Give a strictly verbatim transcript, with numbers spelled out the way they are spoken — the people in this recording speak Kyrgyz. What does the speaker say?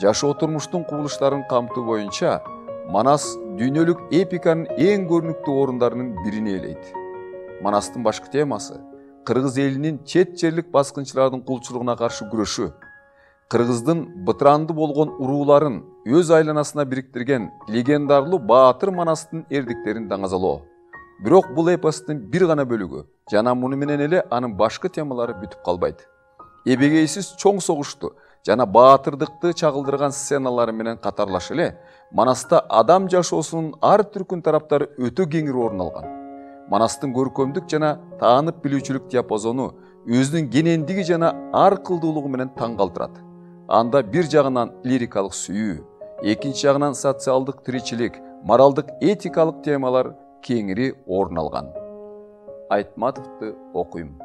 жашоо турмуштун кубулуштарын камтуу боюнча Манас дүйнөлүк эпиканын эң көрүнүктүү орундарынын бирин ээлейт. Манастын башкы темасы кыргыз элинин чет жерлик баскынчылардын кулчулугуна каршы күрөшү, кыргыздын бытыранды болгон урууларын өз айланасына бириктирген легендарлуу баатыр Манастын эрдиктерин даңазалоо. Бирок бул эпостун бир гана бөлүгү жана муну менен эле анын башкы темалары бүтүп калбайт. Эбегейсиз чоң согушту жана баатырдыкты чагылдырган сценалары менен катарлаш эле Манаста адам жашоосунун ар түркүн тараптары өтө кеңири орун алган. Манастын көркөмдүк жана таанып билүүчүлүк диапазону өзүнүн кенендиги жана ар кылдуулугу менен таң калтырат. Анда бир жагынан лирикалык сүйүү, экинчи жагынан социалдык тиричилик, моралдык этикалык темалар кеңири орун алган. Айтматовду окуйм.